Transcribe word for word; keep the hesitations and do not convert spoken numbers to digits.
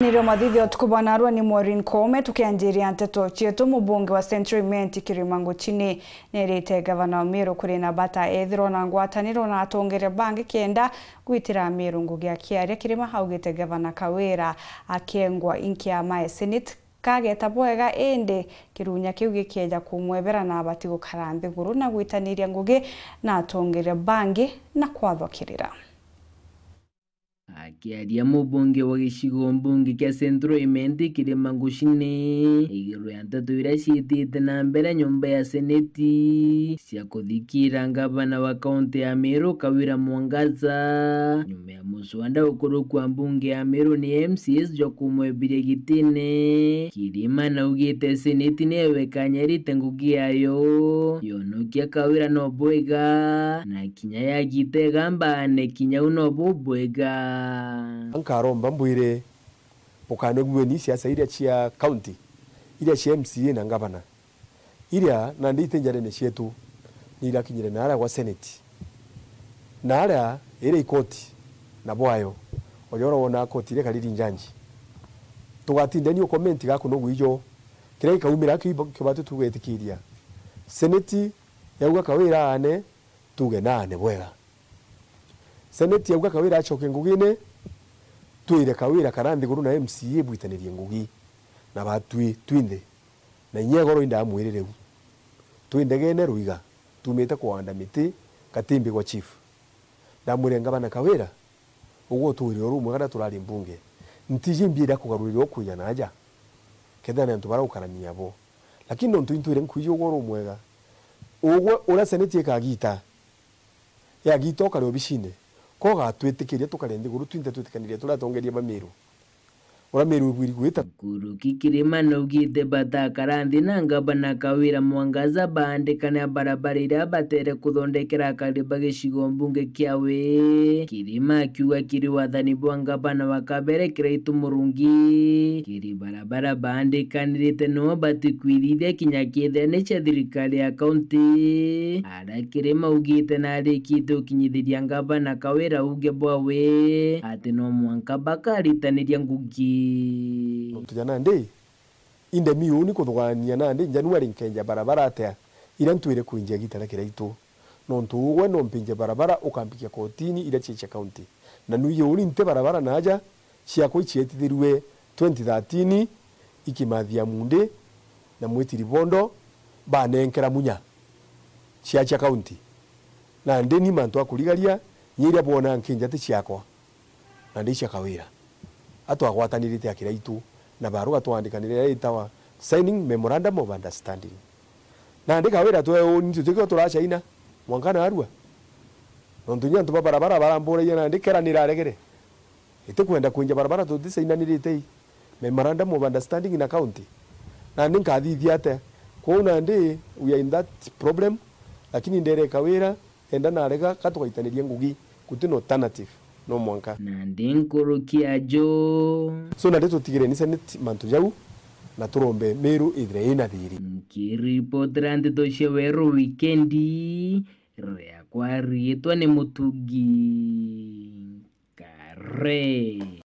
Nireo mathithi utuku bwa narua ni Maureen Koome, tukianjiria nteto cietu. Mubunge wa Central Imenti Kirima Nguchini nierite gavana wa Meru kuri na bata ethirwa na ngwataniro na atongeria bangi kenda gwitira Meru ngugi. Akiaria, Kirima augite gavana Kawira akengwa inki ya mae Senate kageta bwega, indi kirunya kiu gikieja kumwebera na abati gukara nthiguru na gwitaniria ngugi na atongeria bangi na kwathwa kirira. Akiaria mubunge wa gicigo mbunge kia Central Imenti Kirima Nguchini iguru ya nteto iria ciitite na mbere nyomba ya Seneti cia kuthikira ngavana wa kaunti ya Meru Kawira Mwangaza, nyuma ya muswada ukurukwa mbunge ya Meru ni M C As jwa kumwebiria gitine, Kirima naugite Seneti niyo ikanyarite ngugi yayo yonokia Kawira no bwega, na kinya yagita igamba ne kinya u no bubwega. Nkaromba mbwire bukanegueni siasa iria cia county, iria cia M C A na ngavana, iria nandi iti njarene cietu, ni irakinyire naria gwa Senate. Naria iri ikoti na bwayo, ojora wona koti iria ikariri njanji. Tugatindeni ukomenti gaku no gwijo. Kiria gikaumira kiu kibatu tugetikiria. Senate yauga Kawira aane, tuge naane bwega. Senate yauga Kawira acoke ngugine, twire Kawira kara nthiguru na M C A bwitanirie ngugi na batwi twinthe. Na inya igoro indamwirire u. Twi ndegene Ruiga, tumite kuanda miti Katimbi gwa chief. Ndamwire, ngavana Kawira, ugwe utwire uru umwe kana turari mbunge. Ntiji mbiira kugarurira ukwija na aja. Kethira ni antu bara ukarania bo. Lakini nontu intwire nkwiji ugwe uru umwega. Ugwe uria Senate ikagita, yagita ukare obicine, ko ugatwitikiria tukare nthiguru twinthe twitikanirie turi atongeria ba Meru. Uria Meru ibwiri gwita. Nkuruki Kirima naugite batakara nthi na ngavana Kawira Mwangaza baandikane barabara iria batere kuthondekera akari ba gicigo mbunge kiawe. Kirima akiuga kiri wathani bwa ngavana wa kabere Kiraitu Murungi, kiri barabara baandikanirite no batikwirithia kinya kethira ni cia thirikari ya kaunti. Aria Kirima augite narikite ukinyithiria ngavana Kawira uge bwawe ati no mwanka bakaritaniria ngugi. Nontu ja nandi, inde mi uni kuthugania nandi January nkenja barabara atia iria ntwire kwinjia gita ria Kiraitu. Nontu ugwe no mpinje barabara ukampikia kotini iria cia cia kaunti. Na nuiji uni nte barabara naja ciakwa icietithirue twenty thirteen, ikimathia Mundi na Mwitiri Bondo banenkera munya cia cia kaunti. Nandi ni mantu a kurigaria, inya iria bwona nkinja ti ciakwa. Nandi cia Kawira. Atwagwatanirite a Kiraitu, na baruga twandikanire iria itawa signing memorandum of understanding. Nandi Kawira twe uni tutike turacaina, mwanka narua. Nontu inya antu ba barabara baramburagia nandi kera niraregere. Itikwenda kwinja barabara tuticainanirite i memorandum of understanding na county. Nandi nkathithia atia? Kwou nandi we are in that problem, lakini ndere Kawira, enda narega, ka tugaitaniria ngugi, guti na alternative, no mwanka. Nandi nkuruki ajo. So nandi tutigireni Senate mantu jau, na turombe Meru ithire ina thiri. Nkiripotera nteto cia Weru Wikendi, riakwa riitwa ni Mutugi Kare.